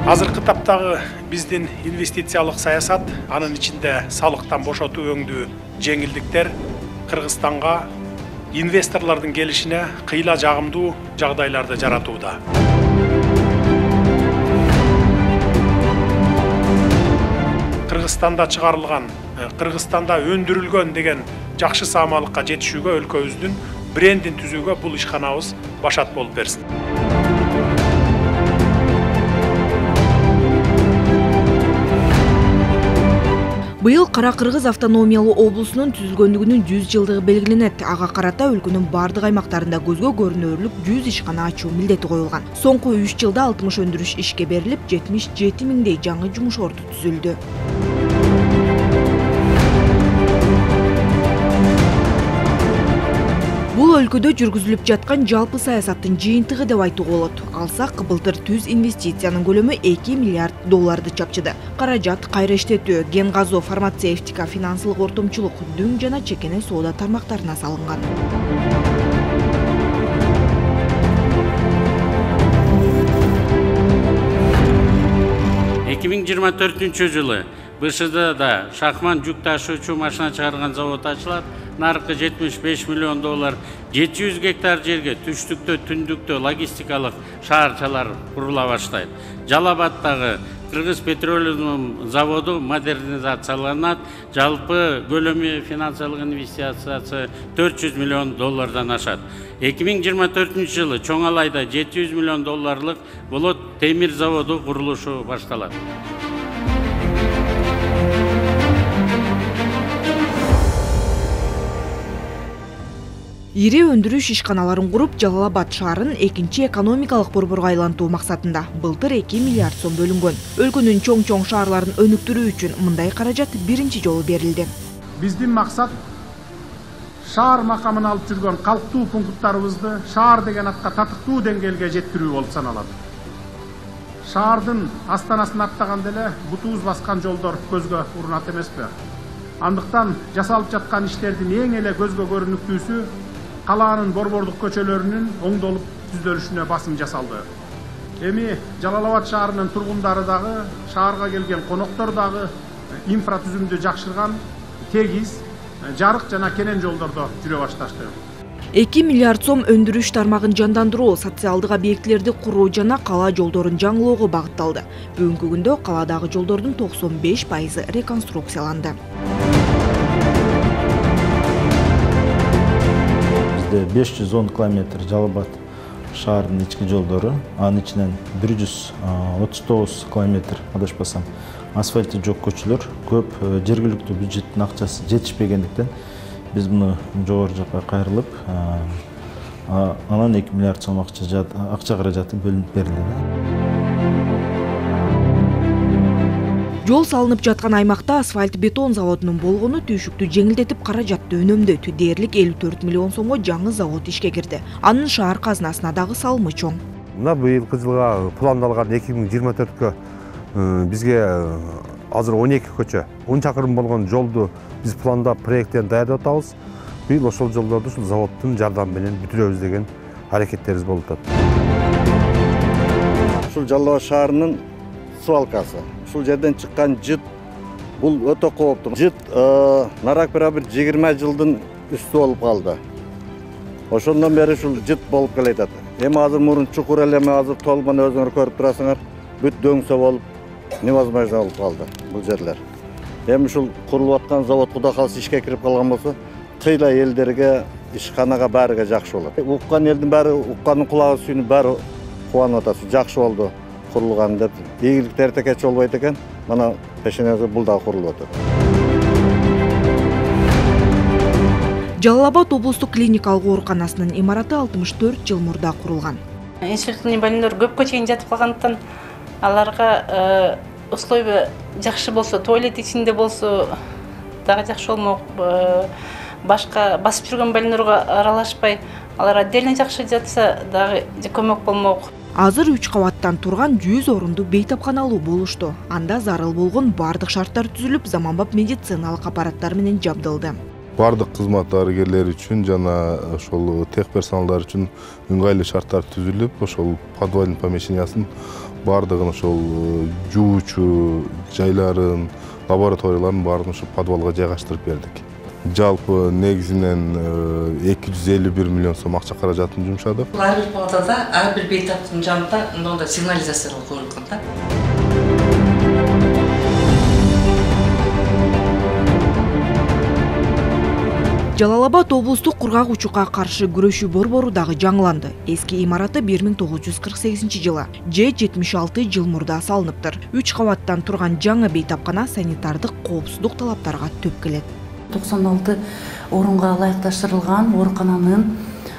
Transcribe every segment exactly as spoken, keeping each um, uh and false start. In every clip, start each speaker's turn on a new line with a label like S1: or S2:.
S1: Азыркы таптагы биздин инвестициялык саясат, анын ичинде салыктан бошотуу өңдүү жеңилдиктер Кыргызстанга инвесторлордун келишине кыйла жагымдуу жагдайларды жаратууда. Кыргызстанда чыгарылган, Кыргызстанда өндүрүлгөн деген жакшы саамалыкка жетишүүгө өлкөбүздүн брендин түзүүгө бул ишканабыз башат болуп берсин.
S2: Быйыл Кара Кыргыз автономиялуу облусунун түзүлгөндүгүнүн жүз жылдыгы белгиленет. Ага карата өлкөнүн бардык аймактарында көзгө көрүнөрлүк жүз ишкана ачуу милдети коюлган. Соңку үч жылда алтымыш өндүрүш ишке берилип, жетимиш жети миңдей жаңы жумуш орду түзүлдү. Бул өлкөдө жүргүзүлүп жаткан жалпы саясаттын жыйынтыгы деп айтууга болот. Алсак, былтыр түз инвестициянын көлөмү эки миллиард долларды чапчыды. Каражат кайра иштетүү, ген газоо, фармацевтика, финансылык ортомчулук, дүң жана чекене соода тармактарына салынган.
S3: эки миң жыйырма төртүнчү жылы Б Ш Д'да шахман жүк ташуучу машина чыгарган завод ачылат. Наркы жетимиш беш миллион доллар, жети жүз гектар жерге түштүктө, түндүктө логистикалык шаарчалар курула баштайт. Жалал Абадтагы Кыргыз петролиум заводу модернизацияланат. Жалпы көлөмү финансылык инвестициясы төрт жүз миллион доллардан ашат. эки миң жыйырма төртүнчү жылы Чоң Алайда жети жүз миллион долларлык болот темир заводу курулушу башталат.
S2: Ири өндүрүш ишканаларын куруп, Жалал Абад шаарын экинчи экономикалык борборго айлантуу максатында былтыр эки миллиард сом бөлүнгөн. Өлкөнүн чоң-чоң шаарларын өнүктүрүү үчүн мындай каражат биринчи жолу берилди.
S1: Биздин максат шаар макамын алып жүргөн калктуу пункттарыбызды шаар деген атка татыктуу деңгээлге жеткирүү болуп саналат. Шаардын астанасын аттаганда эле бутубуз баскан жолдор көзгө урунат эмеспи? Андыктан жасалып жаткан иштердин эң эле көзгө көрүнүктүүсү калаанын борбордук көчөлөрүнүн оңдолуп түзөлүшүнө басым жасалды. Эми Жалал Абад шаарынын тургундары дагы, шаарга келген коноктор дагы инфратүзүмдү жакшырган, тегиз, жарык жана кенен жолдордо жүрө башташты.
S2: эки миллиард сом өндүрүш тармагын жандандыруу, социалдык объектилерди куруу жана кала жолдорун жаңылоого багытталды. Бүгүнкү күндө каладагы жолдордун токсон беш пайызы реконструкцияланды.
S4: беш жүз он километр Жалал Абад шаарынын ички жолдору, анын ичинен бир жүз отуз тогуз километр адашпасам асфальты жок көчөлөр, көп жергиликтүү бюджеттин акчасы жетишпегендиктен биз муну жогору жакка кайрылып, анан эки миллиард сом акча каражаты бөлүнүп берилди.
S2: Жол салынып жаткан аймакта асфальт бетон заводунун болгону түйшүктү жеңилдетип, каражатты үнөмдөйт. Дээрлик элүү төрт миллион сомго жаңы завод ишке кирди. Анын шаар казынасына дагы салымы чоң.
S5: Мына быйылкы жылга пландалган эки миң жыйырма төрткө бизге азыр он эки көчө, он чакырым болгон жолду биз пландап, проекттен даярдап атабыз. Быйыл ошол жолдорду ушул заводдун жардамы менен бүтүрөбүз деген аракеттерибиз болуп атат.
S6: Ушул Жалал Абад шаарынын свалкасы. Ушул жерден чыккан жыт бул өтө кооптуу. Жыт нарак бир жыйырма жылдын үстү болуп калды. Ошондон бери ушул жыт болуп келатат. Эми азыр мурун чукур эле, азыр толмон өзүңөр көрүп турасыңар, бүт дөңсө болуп, невозможно болуп калды бул жерлер. Эми ушул курулуп аткан завод куда калса ишке кирип калган болсо, кыйла элдерге, ишканага баарыга жакшы болот. Уккан элдин баары, уккандын кулагы сүйүнүп баары кубанып атат. Жакшы болду курулган деп. Ийгилик эртекеч болбойт экен. Мана пешенеге бул дагы курулуп атат.
S2: Жалал Абад облустук клиникалык ооруканасынын имараты алтымыш төрт жыл мурда курулган.
S7: Инсульттуу больнойлор көпкө чейин жатып калгандыктан аларга условия жакшы болсо, туалет ичинде болсо дагы жакшы болмок. Башка басып жүргөн больнойлорго аралашпай, алар отдельно жакшы жатса дагы көмөк болмок.
S2: Азыр үч кабаттан турган жүз орунду бейтапканалуу болушту. Анда зарыл болгон бардык шарттар түзүлүп, заманбап медициналык аппараттар менен жабдылды.
S8: бардык кызмат дарыгерлери үчүн жана ошол тех персоналдар үчүн ыңгайлуу шарттар түзүлүп, ошол подвальный помещениясын бардыгын ошол жуучу жайларын, лабораторияларын баарын ошо подвалга жайгаштырып бердик. Жалпы негизинен эки жүз элүү бир миллион сом акча каражатын жумшадык.
S9: Ар бир палатада, ар бир бейтаптын жанында мындай сигнализациялар коюлган да.
S2: Жалал Абад облустук кургак учукка каршы күрөшүү борбору дагы жаңыланды. Эски имараты бир миң тогуз жүз кырк сегизинчи жылы же жетимиш алты жыл мурда салыныптыр. үч кабаттан турган жаңы бейтапкана санитардык коопсуздук талаптарга төп келет.
S10: токсон алты орунга ылайыкташтырылган оорукананын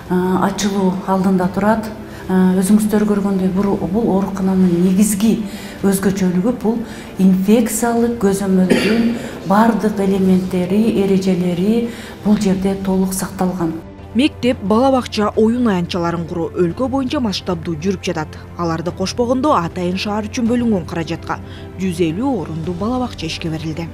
S10: ачылуу алдында турат. Өзүңүздөр көргөндөй бул оорукананын негизги өзгөчөлүгү бул инфекциялык көзөмөлдүн бардык элементтери, эрежелери бул жерде толук сакталган.
S2: Мектеп, бала бакча, оюн аянтчаларын куруу өлкө боюнча масштабдуу жүрүп жатат. Аларды кошпогондо атайын шаар үчүн бөлүнгөн каражатка жүз элүү орундуу бала бакча ишке берилди.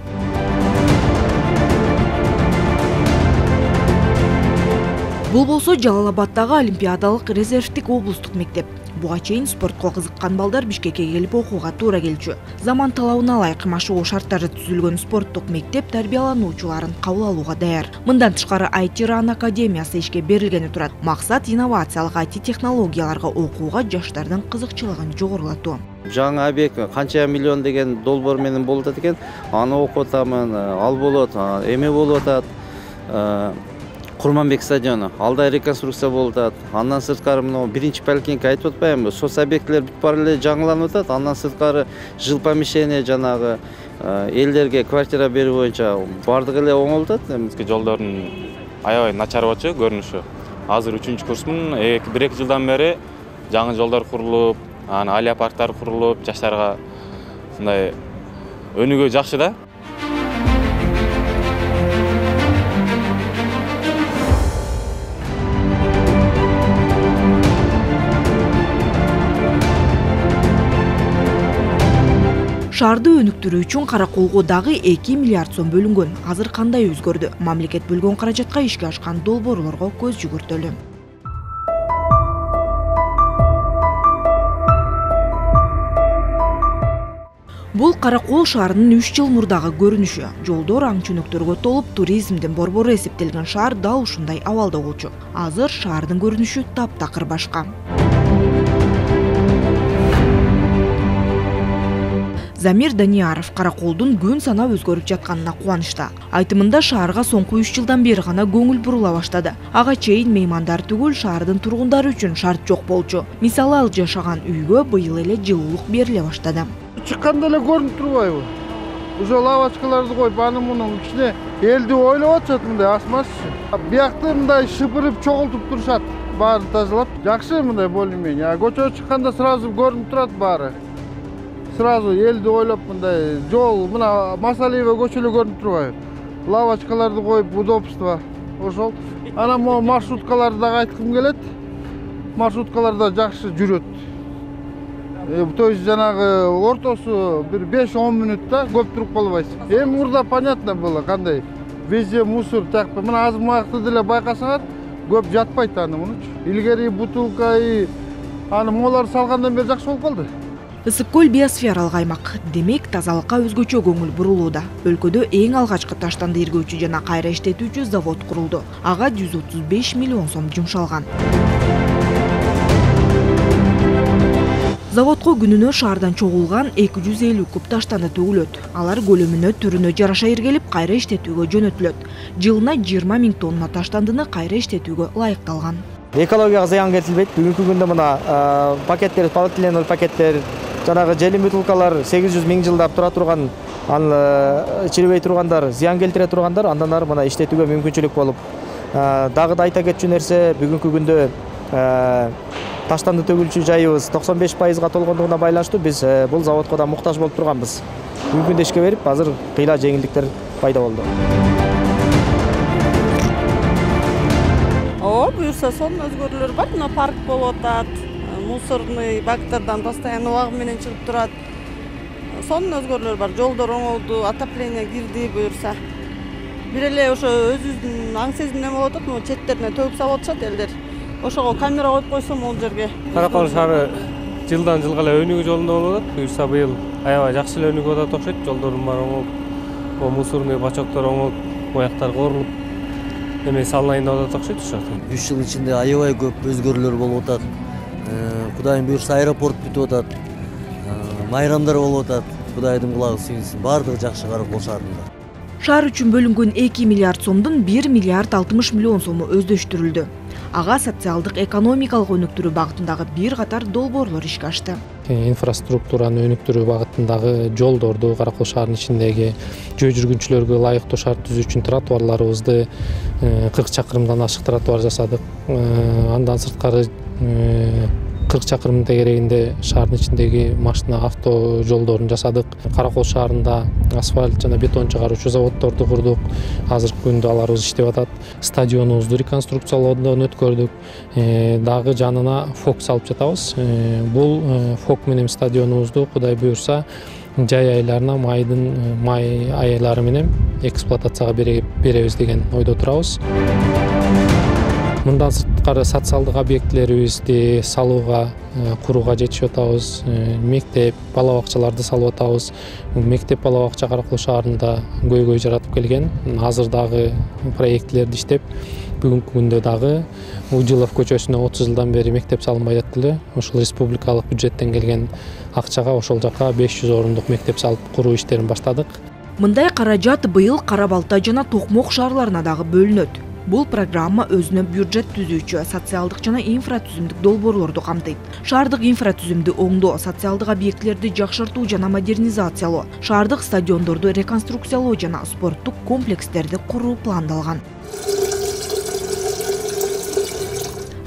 S2: Бул болсо Жалал Абаддагы Олимпиадалык резервдик облустук мектеп. Буга чейин спортко кызыккан балдар Бишкекке келип окууга туура келчү. Заман талабына ылайык машыгуу шарттары түзүлгөн спорттук мектеп тарбиялануучуларын кабыл алууга даяр. Мындан тышкары ай ти Ран академиясы ишке берилгени турат. Максат инновациялык ай ти технологияларга окууга жаштардын кызыкчылыгын жогорулатуу.
S11: Жаңы объект канча миллион деген долбоор менен болуп атат экен. Аны окуп атамын, ал болот, эме болуп атат. Курманбек стадиону алда реконструкция болуп атат. Андан сырткары мына биринчи поликлиника айтып атпаймынбы? Соц объектилер бүт баары эле жаңыланып атат. Андан сырткары жыл помещение жанагы элдерге квартира берүү боюнча бардыгы эле оңолуп атат.
S12: Жолдордун аябай начар болчу көрүнүшү. Азыр үчүнчү курсмун. бир эки жылдан бери жаңы жолдор курулуп, анан алия парктар курулуп, жаштарга мындай өнүгүү жакшы да.
S2: Шаарды өнүктүрүү үчүн Караколго дагы эки миллиард сом бөлүнгөн. Азыр кандай өзгөрдү? Мамлекет бөлгөн каражатка ишке ашкан долбоорлорго көз жүгүртөлү. Бул Каракол шаарынын үч жыл мурдагы көрүнүшү. Жолдор аң чөнөктөргө толуп, туризмдин борбору эсептелген шаар дал ушундай абалда болчу. Азыр шаардын көрүнүшү таптакыр башка. Замир Данияров Караколдун күн санап өзгөрүп жатканына кубанычта. Айтымында шаарга соңку үч жылдан бери гана көңүл бурула баштады. Ага чейин меймандар түгүл, шаардын тургундары үчүн шарт жок болчу. Мисалы, ал жашаган үйгө быйыл эле жылуулук бериле баштады.
S13: Чыкканда эле көрүнүп турбайбы? Уже лавочкаларды коюп, аны мунун кичине элди ойлоп атышат, мындай асмашчы. Биякты мындай шыпырып чогултуп турушат, баарын тазалап. Жакшы мындай более-менее. Көчөгө чыкканда сразу көрүнүп турат баары. Сразу элди ойлоп мындай жол, мына Масалиева көчөлө көрүнүп турбайбы? Лавочкаларды коюп, удобство. Ошол. Анан могу маршруткаларды дагы айткым келет. Маршруткалар да жакшы жүрөт. То есть жанагы ортосу бир беш он мүнөттө көп туруп калбайсың. Эми мурда понятно было кандай. Везде мусор так. Мына азыр муакты деле байкасаңар, көп жатпайт аны мунучу. Илгери бутылка и аны молар салгандан бери жакшы болуп калды.
S2: Ысык көл биосфералык аймак. Демек, тазалыкка өзгөчө көңүл бурулууда. Өлкөдө эң алгачкы таштанды иргөөчү жана кайра иштетүүчү завод курулду. Ага жүз отуз беш миллион сом жумшалган. Заводко күнүнө шаардан чогулган эки жүз элүү куб таштанды төгүлөт. Алар көлөмүнө, түрүнө жараша иргелип, кайра иштетүүгө жөнөтүлөт. Жылына жыйырма миң тонна таштандыны кайра иштетүүгө ылайыкталган.
S14: Экологияга зыян келтилбейт. Бүгүнкү күндө мына пакеттер, полиэтиленовый пакеттер, жанагы желим бутылкалар сегиз жүз миң жылдап тура турган, аны чирибей тургандар, зыян келтире тургандар андан ары мына иштетүүгө мүмкүнчүлүк болуп. Дагы да айта кетчү нерсе, бүгүнкү күндө таштанды төгүлчү жайыбыз токсон беш пайызга толгондугуна байланыштуу биз бул заводко да муктаж болуп турганбыз. Бүгүнкү күндө ишке берип, азыр кыйла жеңилдиктер пайда болду.
S15: О, буюрса сонун өзгөрүүлөр бар. Мына парк болуп атат. Мусорный бактардан постоянно убагы менен чыгып турат. Сонун өзгөрүүлөр бар. Жолдор оңолду, отопление кирди буюрса. бир эле ошо өзүбүздүн аң сезим неме болуп атат, могу четтерине төгүп салып атышат элдер. Ошого камера коюп койсо могул жерге.
S16: Каракол шаары жылдан жылга эле өнүгүү жолунда болуп атат. Буюрса быйыл аябай жакшы эле өнүгүп атат окшойт. Жолдордун баары оңолуп, мусорный бачоктор оңолуп, бояктар корулуп, эме салынайын деп атат окшойт ошо.
S17: үч жыл ичинде аябай көп өзгөрүүлөр болуп атат. Кудайым буюрса аэропорт бүтүп атат. Майрамдар болуп атат. Кудайдын кулагы сүйүнсүн. Баардыгы жакшы Каракол шаарында.
S2: Шаар үчүн бөлүнгөн эки миллиард сомдун бир миллиард алтымыш миллион сому өздөштүрүлдү. Ага социалдык экономикалык өнүктүрүү багытындагы бир катар долбоорлор ишке ашты.
S18: Инфраструктураны өнүктүрүү багытындагы жолдорду, Каракол шаарынын ичиндеги жөө жүргүнчүлөргө ылайыктуу шарт түзүү үчүн тротуарларыбызды кырк чакырымдан ашык тротуар жасадык. Андан сырткары кырк чакырым тегерегинде шаардын ичиндеги машина авто жолдорун жасадык. Каракол шаарында асфальт жана бетон чыгаруучу заводдорду курдук. Азыркы күндө аларыбыз иштеп атат. Стадионубузду реконструкциялоодон өткөрдүк. Дагы жанына фок салып жатабыз. Бул фок менен стадионубузду Кудай буюрса жай айларына майдын май айлары менен эксплуатацияга беребиз деген ойдо турабыз. Мындан сырткары социалдык объектилерибизди салууга, курууга жетишип атабыз. Мектеп, бала бакчаларды салып атабыз. Мектеп, бала бакча Каракол шаарында көйгөй жаратып келген. Азыр дагы проектилерди иштеп, бүгүнкү күндө дагы Удилов көчөсүнө отуз жылдан бери мектеп салынбай жатты эле. Ошол республикалык бюджеттен келген акчага ошол жака беш жүз орундук мектеп салып куруу иштерин баштадык.
S2: Мындай каражат быйыл Кара Балта жана Токмок шаарларына дагы бөлүнөт. Бул программа өзүнө бюджет түзүүчү, социалдык жана инфратүзүмдүк долбоорлорду камтыйт. Шаардык инфратүзүмдү оңдоо, социалдык объектилерди жакшыртуу жана модернизациялоо, шаардык стадиондорду реконструкциялоо жана спорттук комплекстерди куруу пландалган.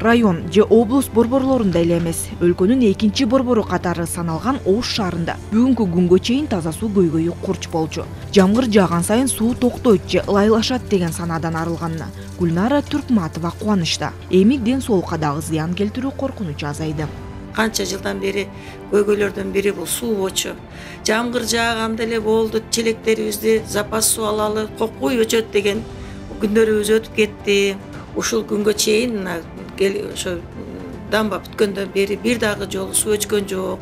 S2: Район же облус борборлорунда эле эмес, өлкөнүн экинчи борбору катары саналган Ош шаарында бүгүнкү күнгө чейин таза суу көйгөйү курч болчу. Жамгыр жааган сайын суу токтойт же ылайлашат деген санаадан арылганына Гүлнара Түркматова кубанычта. Эми ден соолукка дагы зыян келтирүү коркунучу азайды.
S19: Канча жылдан бери көйгөйлөрдөн бири бул суу болчу. Жамгыр жааганда эле болду, челектерибизди запас суу алалы, кокуй өчөт деген күндөрүбүз өтүп кетти. Ушул күнгө чейин ошо дамба бүткөндөн бери бир дагы жолу суу өчкөн жок.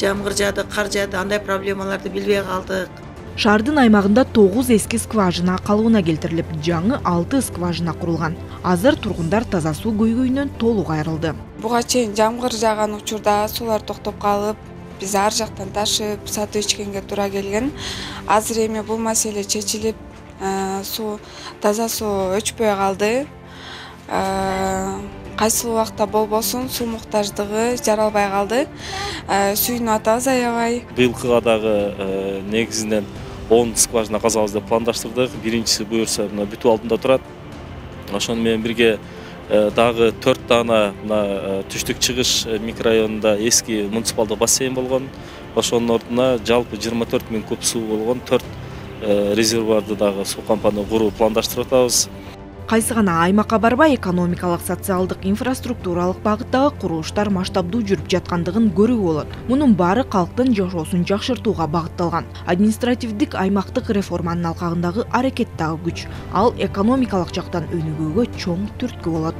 S19: Жамгыр жаады, кар жаады, андай проблемаларды билбей калдык.
S2: Шаардын аймагында тогуз эски скважина калыбына келтирилип, жаңы алты скважина курулган. Азыр тургундар таза суу көйгөйүнөн толук айрылды.
S20: Буга чейин жамгыр жааган учурда суулар токтоп калып, биз ар жактан ташып, сатып ичкенге туура келген. Азыр эми бул маселе чечилип, суу таза суу өчпөй калды. Кайсыл убакта болбосун суу муктаждыгы жаралбай калды. Сүйүнүп атабыз аябай.
S21: Быйылкыга дагы негизинен он скважина казабыз деп пландаштырдык. Биринчиси буюрса мына бүтүп алдында турат. Ошону менен бирге дагы төрт дана мына түштүк чыгыш микрорайонунда эски муниципалдык бассейн болгон. Ошонун ордуна жалпы жыйырма төрт миң куб суу болгон төрт резервуарды дагы суу компания куруу пландаштырып атабыз.
S2: Кайсы гана аймакка барбай экономикалык, социалдык, инфраструктуралык багыттагы курулуштар масштабдуу жүрүп жаткандыгын көрүүгө болот. Мунун баары калктын жашоосун жакшыртууга багытталган. Административдик аймактык реформанын алкагындагы аракет дагы күч. Ал экономикалык жактан өнүгүүгө чоң түрткү болот.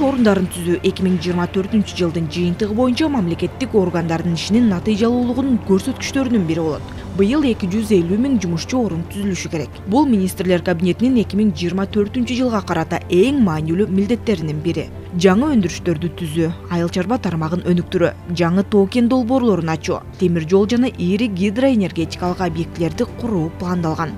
S2: Орундарын түзүү эки миң жыйырма төртүнчү жылдын жыйынтыгы боюнча мамлекеттик органдардын ишинин натыйжалуулугунун көрсөткүчтөрүнүн бири болот. Быйыл эки жүз элүү миң жумушчу орун түзүлүшү керек. Бул министрлер кабинетинин эки миң жыйырма төртүнчү жылга карата эң маанилүү милдеттеринин бири. Жаңы өндүрүштөрдү түзүү, айыл чарба тармагын өнүктүрүү, жаңы тоо кен долбоорлорун ачуу, темир жол жана ири гидроэнергетикалык объектилерди куруу пландалган.